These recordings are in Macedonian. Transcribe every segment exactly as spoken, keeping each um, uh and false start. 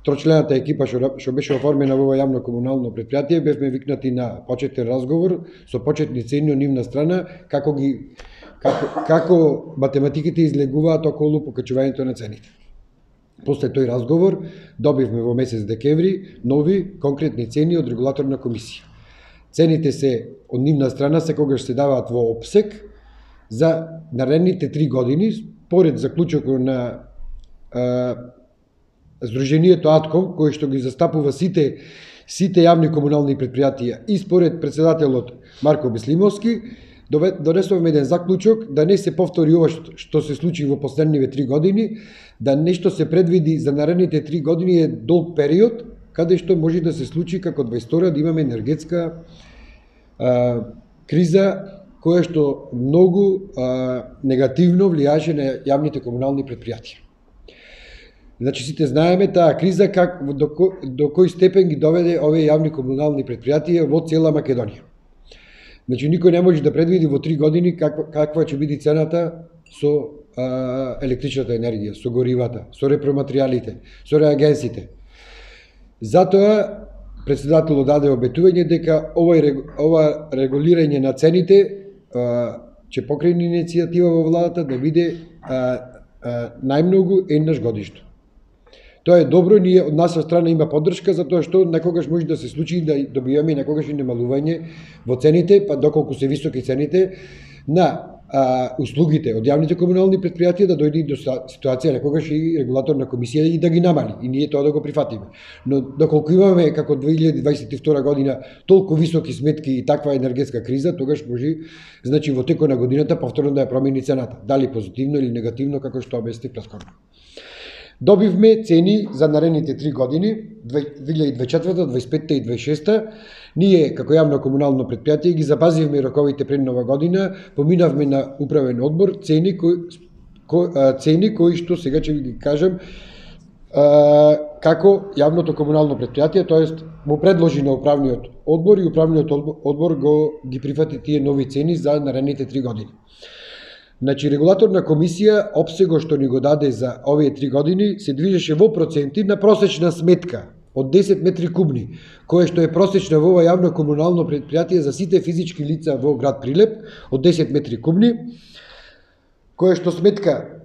трочлената екипа што, што беше оформена во ова јавно комунално предпријатие, бевме викнати на почетен разговор со почетни цени од нивна страна, како ги како, како математиките излегуваат околу покачувањето на цените. После тој разговор добивме во месец декември нови конкретни цени од регулаторна комисија. Цените се од нивна страна секогаш се даваат во опсек за наредните три години, според заклучокот на а, Сдруженијето АТКОМ, кој што ги застапува сите сите јавни комунални предпријатија, и според председателот Марко Беслимовски, донесовме еден заклучок да не се повтори ова што се случи во последниве три години, да нешто се предвиди за наредните три години е долг период, каде што може да се случи како дваесет и втора да имаме енергетска а, криза, која што многу а, негативно влијаше на јавните комунални предпријатија. Значи, сите знаеме таа криза как, до, кој, до кој степен ги доведе овие јавни комунални предпријатија во цела Македонија. Значи, никој не може да предвиди во три години каква, каква ќе биде цената со а, електричната енергија, со горивата, со репроматеријалите, со реагенсите. Затоа, председателот даде обетување дека овој, ова регулирање на цените а, ќе покрене иницијатива во владата да биде а, а, најмногу еднаш годишно. Тоа е добро, ние од наша страна има поддршка, затоа што некогаш може да се случи да добиваме некогаш и намалување во цените, па доколку се високи цените на а, услугите од јавните комунални предпријатија, да дојде до ситуација некогаш и регулаторна комисија и да ги намали, и ние тоа да го прифатиме. Но доколку имаме како две илјади дваесет и втора година толку високи сметки и таква енергетска криза, тогаш може, значи во текот на годината повторно да ја промени цената, дали позитивно или негативно, како што обяснив претходно. Добивме цени за наредните три години, две илјади дваесет и четврта, дваесет и петта и дваесет и шеста. Ние, како јавно комунално предпријатие, ги запазивме роковите пред нова година, поминавме на управен одбор, цени кои, ко, цени кои што сега ќе ви ги кажам како јавното комунално предпријатие, тоест му предложи на управниот одбор и управниот одбор го ги прифати тие нови цени за наредните три години. Значи, регулаторна комисија, опсего што ни го даде за овие три години, се движеше во проценти на просечна сметка од десет метри кубни, кое што е просечна во ова јавно комунално предпријатие за сите физички лица во град Прилеп, од десет метри кубни, кое што сметка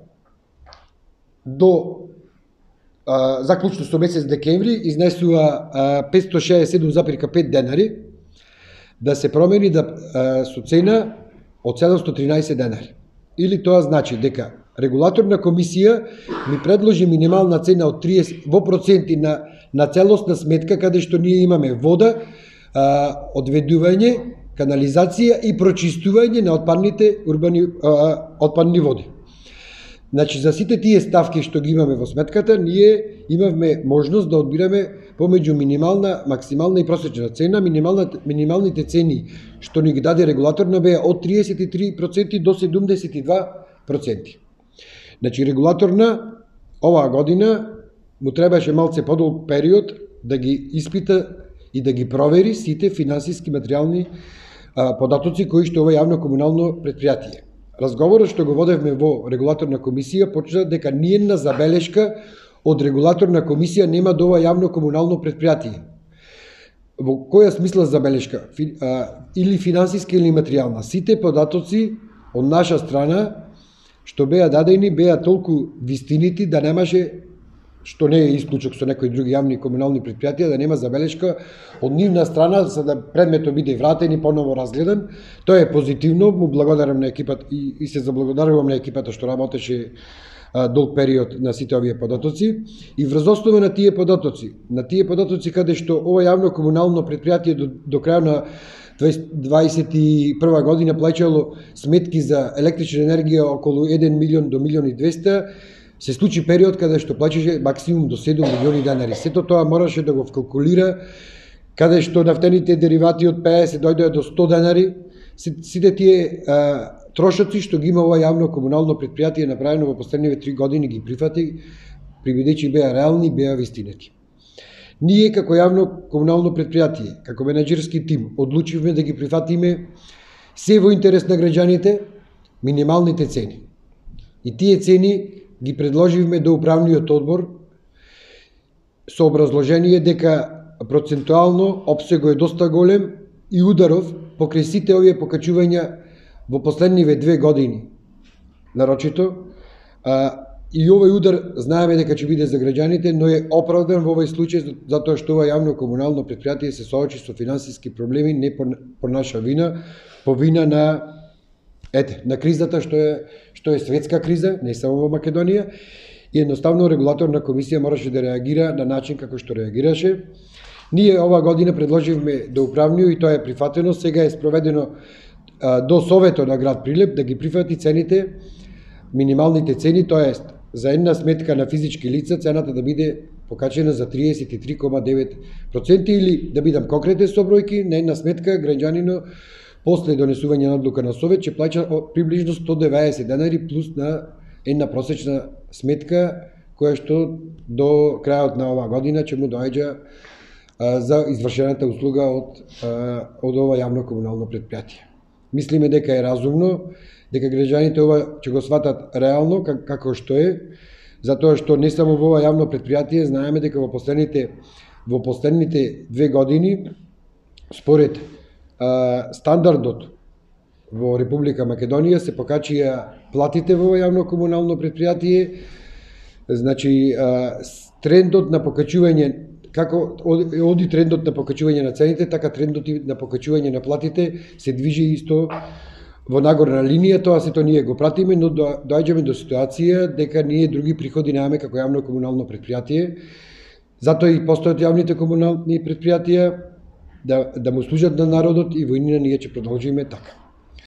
до а, заклучно со месец декември изнесува а, петстотини шеесет и седум зарез пет денари, да се промени да, а, со цена од седумстотини и тринаесет денари. Или тоа значи дека регулаторна комисија ми предложи минимална цена од триесет во проценти на на целосна сметка, каде што ние имаме вода, а, одведување, канализација и прочистување на отпадните урбани а, отпадни води. Значи, за сите тие ставки што ги имаме во сметката, ние имавме можност да одбираме помеѓу минимална, максимална и просечна цена. Минималните цени што ни ги даде регулаторна беа од триесет и три проценти до седумдесет и два проценти. Значи, регулаторна оваа година му требаше малце подолг период да ги испита и да ги провери сите финансиски материјални а, податоци кои што ова јавно комунално предпријатие. Разговорот што го водевме во регулаторна комисија почна дека ниедна забелешка од регулаторна комисија нема до ова јавно комунално предпријатие. Во која смисла забелешка? Фи, а, или финансиска или материјална. Сите податоци од наша страна што беа дадени беа толку вистинити да немаше, што не е исклучок со некои други јавни комунални предпријатија, да нема забелешка од нивна страна за да предметот биде вратен и поново разгледан. Тоа е позитивно, му благодарам на екипата и, и се заблагодарувам на екипата што работеше а, долг период на сите овие податоци. И врз основа на тие податоци, на тие податоци каде што ова јавно комунално предпријатие до, до крај на дваесет и прва година плаќало сметки за електрична енергија околу еден милион до милион и двесте, се случи период каде што плаќаше максимум до седум милиони денари. Сето тоа мораше да го вкалкулира, каде што нафтените деривати од пеесет дојдоа до сто денари. Сите тие а, трошоци што ги има ова јавно комунално предпријатие направено во последниве три години ги прифати, прибедејќи беа реални, беа вистинети. Ние како јавно комунално предпријатие, како менеджерски тим, одлучивме да ги прифатиме се во интерес на граѓаните минималните цени. И тие цени ги предложивме до управниот одбор со образложение дека процентуално опсего е доста голем и ударов покрај сите овие покачувања во последниве две години. Нарочито, а, и овој удар знаеме дека ќе биде за граѓаните, но е оправдан во овој случај затоа што ова јавно комунално претпријатие се соочи со финансиски проблеми не по, по наша вина, по вина на ете, на кризата што е што е светска криза, не само во Македонија, и едноставно регулаторна комисија мораше да реагира на начин како што реагираше. Ние ова година предложивме до управниот и тоа е прифатено, сега е спроведено а, до Советот на град Прилеп да ги прифати цените, минималните цени, тоест за една сметка на физички лица цената да биде покачена за триесет и три zarez девет проценти или да бидам конкретен со бројки, на една сметка граѓанино после донесување на одлука на Совет ќе плаќа приближно сто деветдесет денари плюс на една просечна сметка која што до крајот на оваа година ќе му доаѓа а, за извршената услуга од, а, од ова јавно комунално претпријатие. Мислиме дека е разумно, дека граѓаните ова ќе го сватат реално как, како што е, затоа што не само во ова јавно претпријатие, знаеме дека во последните во последните две години според а, стандардот во Република Македонија се покачија платите во ова јавно комунално претпријатие, значи а, трендот на покачување како оди трендот на покачување на цените, така трендот на покачување на платите се движи исто во нагорна линија, тоа сето ние го пратиме, но доаѓаме до ситуација дека ние други приходи немаме како јавно комунално претпријатие. Затоа и постојат јавните комунални претпријатија да, да му служат на народот и во иднина ние ќе продолжиме така.